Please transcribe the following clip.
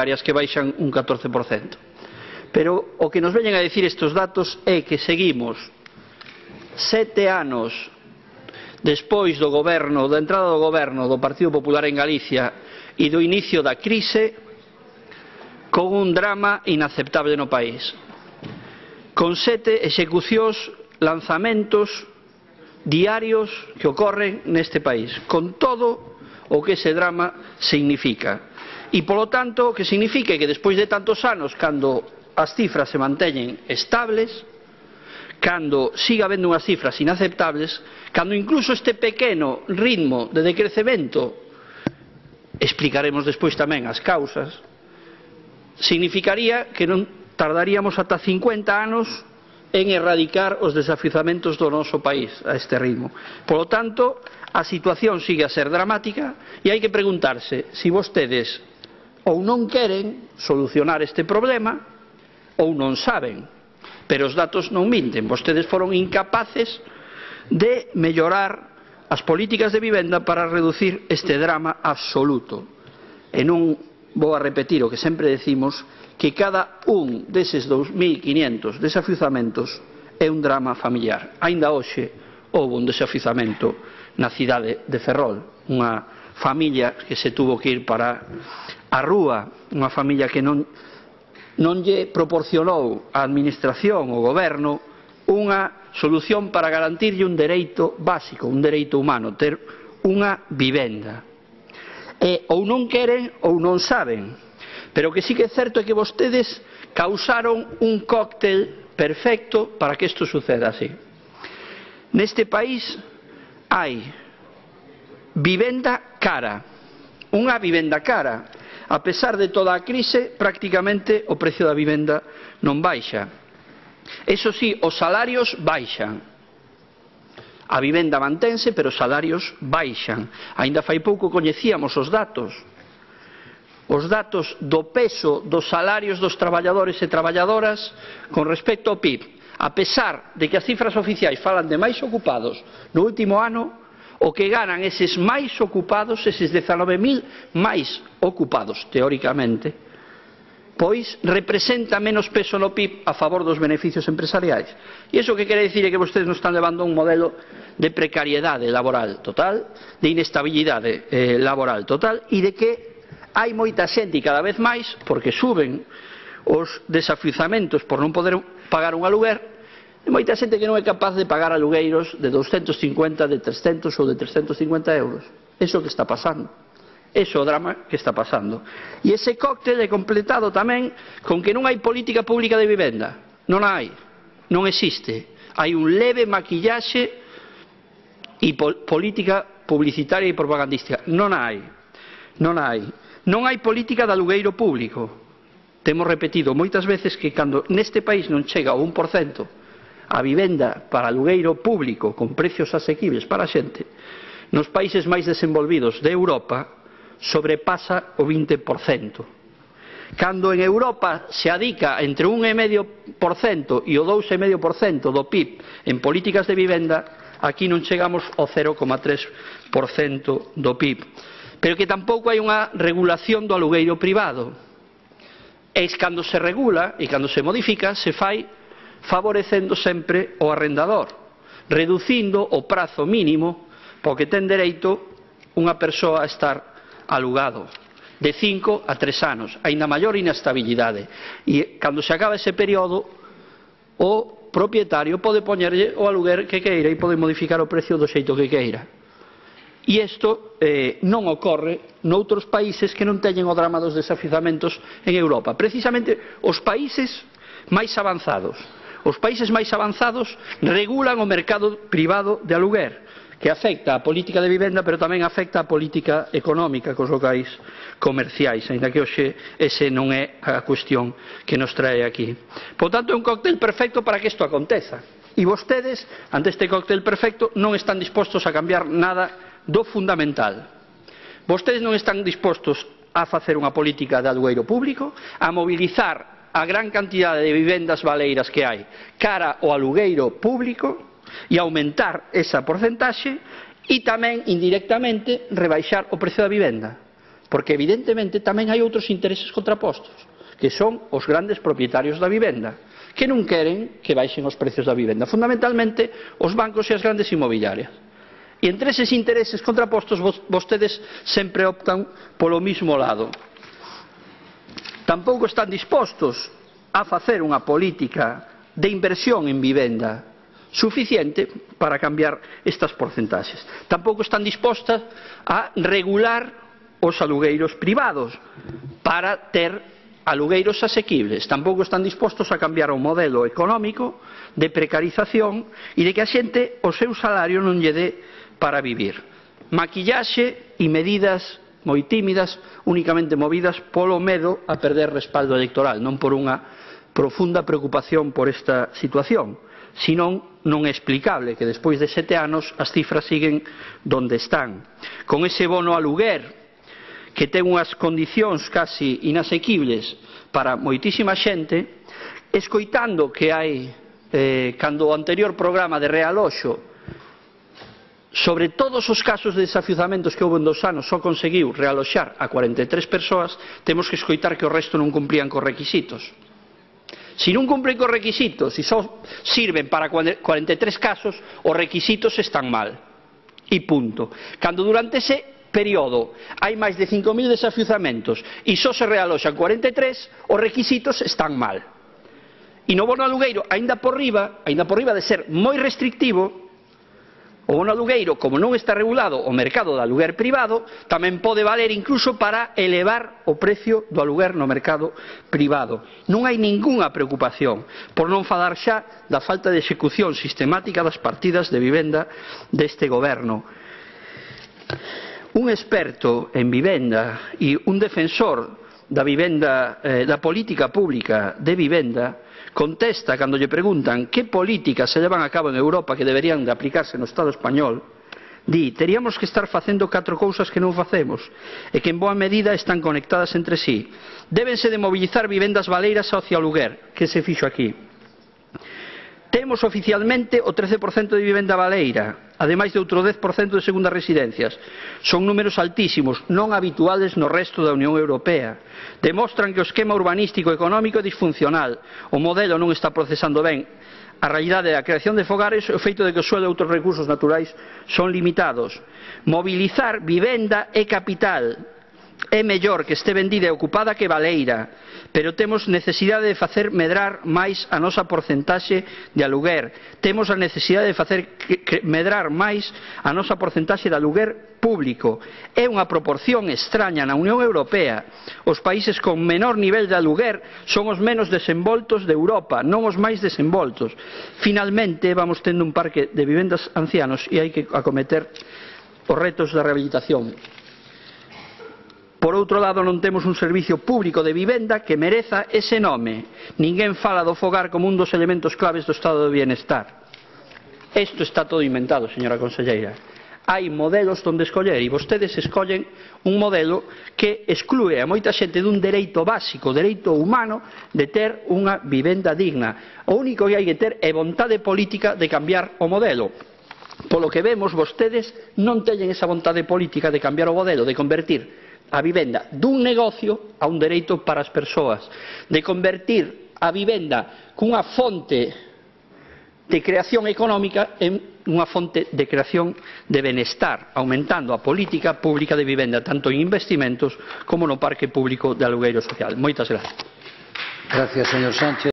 hipotecarias que baixan un 14%. Pero o que nos veñen a dicir estes datos é que seguimos 7 anos despois do goberno, da entrada do goberno do Partido Popular en Galicia e do inicio da crise, con un drama inaceptable no país, con 7 execucións, lanzamentos diarios que ocorren neste país, con todo o que ese drama significa. E, polo tanto, o que significa que despois de tantos anos, cando as cifras se manteñen estables, cando siga habendo unhas cifras inaceptables, cando incluso este pequeno ritmo de decrecemento, explicaremos despois tamén as causas, significaría que non tardaríamos ata 50 anos en erradicar os desafiuzamentos do noso país a este ritmo. Polo tanto, a situación sigue a ser dramática e hai que preguntarse se vostedes ou non queren solucionar este problema ou non saben, pero os datos non minten. Vostedes foron incapaces de mellorar as políticas de vivenda para reducir este drama absoluto. E non vou a repetir o que sempre decimos, que cada un deses 2.500 desafiuzamentos é un drama familiar. Aínda hoxe houve un desafiuzamento na cidade de Ferrol, unha familia que se tuvo que ir para a rúa, unha familia que non lle proporcionou a administración, o goberno, unha solución para garantirlle un dereito básico, un dereito humano, ter unha vivenda. E ou non queren ou non saben, pero o que sí que é certo é que vostedes causaron un cóctel perfecto para que isto suceda así. Neste país hai vivenda cara, unha vivenda cara. A pesar de toda a crise, prácticamente o precio da vivenda non baixa. Eso sí, os salarios baixan. A vivenda mantense, pero os salarios baixan. Aínda fai pouco coñecíamos os datos do peso dos salarios dos traballadores e traballadoras con respecto ao PIB. A pesar de que as cifras oficiais falan de máis ocupados no último ano, o que ganan eses máis ocupados, eses 19.000 máis ocupados, teóricamente, pois representa menos peso no PIB a favor dos beneficios empresariais. E iso que quere dicir é que vostedes nos están levando a un modelo de precariedade laboral total, de inestabilidade laboral total, e de que hai moita xente, e cada vez máis, porque suben os desafiuzamentos por non poder pagar un aluguer, e moita xente que non é capaz de pagar alugueiros de 250, de 300 ou de 350 euros. Eso que está pasando. Eso é o drama que está pasando. E ese cóctel é completado tamén con que non hai política pública de vivenda. Non hai. Non existe. Hai un leve maquillaxe e política publicitaria e propagandística. Non hai. Non hai. Non hai política de alugueiro público. Temos repetido moitas veces que cando neste país non chega ao 1% a vivenda para alugueiro público con precios asequibles para a xente, nos países máis desenvolvidos de Europa sobrepasa o 20%. Cando en Europa se adica entre un 1,5% e o 2,5% do PIB en políticas de vivenda, aquí non chegamos ao 0,3% do PIB. Pero que tampouco hai unha regulación do alugueiro privado. E cando se regula e cando se modifica, se fai favorecendo sempre o arrendador, reducindo o prazo mínimo po que ten dereito unha persoa a estar alugado, de 5 a 3 anos, aínda maior inestabilidade. E cando se acaba ese período, o propietario pode poñerlle o aluguer que queira e pode modificar o precio do xeito que queira. E isto non ocorre noutros países que non teñen o drama dos desafiuzamentos en Europa. Precisamente os países máis avanzados. Os países máis avanzados regulan o mercado privado de aluguer, que afecta a política de vivenda, pero tamén afecta a política económica cos locais comerciais, aínda que hoxe ese non é a cuestión que nos trae aquí. Por tanto, é un cóctel perfecto para que isto aconteza. E vostedes, ante este cóctel perfecto, non están dispostos a cambiar nada do fundamental. Vostedes non están dispostos a facer unha política de alugueiro público, a mobilizar a gran cantidade de vivendas baleiras que hai cara ao alugueiro público e aumentar esa porcentaxe e tamén indirectamente rebaixar o precio da vivenda. porque evidentemente tamén hai outros intereses contrapostos, que son os grandes propietarios da vivenda, que non queren que baixen os precios da vivenda, fundamentalmente os bancos e as grandes inmobiliarias. E entre eses intereses contrapostos vostedes sempre optan polo mismo lado. Tampouco están dispostos a facer unha política de inversión en vivenda suficiente para cambiar estas porcentaxes. Tampouco están dispostas a regular os alugueiros privados para ter alugueiros asequibles. Tampouco están dispostos a cambiar o modelo económico de precarización e de que a xente o seu salario non lle dé para vivir. Maquillaxe e medidas moi tímidas, únicamente movidas polo medo a perder respaldo electoral, non por unha profunda preocupación por esta situación, senón non é explicable que despois de 7 anos as cifras siguen donde están. Con ese bono aluguer que ten unhas condicións casi inasequibles para moitísima xente, escoitando que hai, cando o anterior programa de realoxo, sobre todos os casos de desafiuzamentos que houve en 2 anos só conseguiu realoxar a 43 persoas, temos que escoitar que o resto non cumplían cos requisitos. Se non cumplen cos requisitos e só sirven para 43 casos, os requisitos están mal. E punto. Cando durante ese período hai máis de 5.000 desafiuzamentos e só se realoxan 43, os requisitos están mal. E no bono alugueiro, aínda por riba de ser moi restrictivo, o bono alugueiro, como non está regulado o mercado do aluguer privado, tamén pode valer incluso para elevar o precio do aluguer no mercado privado. Non hai ningunha preocupación, por non falar xa da falta de execución sistemática das partidas de vivenda deste goberno. Un experto en vivenda e un defensor da vivenda, da política pública de vivenda, contesta cando lle preguntan que políticas se levan a cabo en Europa que deberían de aplicarse no Estado español, di: teríamos que estar facendo 4 cousas que non facemos e que en boa medida están conectadas entre sí. Débense de mobilizar vivendas baleiras hacia o aluguer, que se fixo aquí. Temos oficialmente o 13% de vivenda baleira, ademais de outro 10% de segundas residencias. Son números altísimos, non habituales no resto da Unión Europea. Demostran que o esquema urbanístico e económico é disfuncional. O modelo non está procesando ben a realidade da creación de fogares e o feito de que o suelo e outros recursos naturais son limitados. Mobilizar vivenda é capital. É mellor que este vendida e ocupada que baleira, pero temos necesidade de facer medrar máis a nosa porcentaxe de aluguer. Temos a necesidade de facer medrar máis a nosa porcentaxe de aluguer público. É unha proporción extraña na Unión Europea. Os países con menor nivel de aluguer son os menos desenvoltos de Europa, non os máis desenvoltos. Finalmente, vamos tendo un parque de vivendas ancianos e hai que acometer os retos da rehabilitación. Por outro lado, non temos un servicio público de vivenda que mereza ese nome. Ninguén fala do fogar como un dos elementos claves do estado de bienestar. Isto está todo inventado, señora conselleira. Hai modelos onde escoller e vostedes escollen un modelo que exclúe a moita xente dun dereito básico, dereito humano, de ter unha vivenda digna. O único que hai que ter é vontade política de cambiar o modelo. Polo que vemos, vostedes non teñen esa vontade política de cambiar o modelo, de convertir a vivenda dun negocio a un dereito para as persoas, de convertir a vivenda cunha fonte de creación económica en unha fonte de creación de benestar, aumentando a política pública de vivenda tanto en investimentos como no parque público de alugueiro social. Moitas gracias. Gracias, señor Sánchez.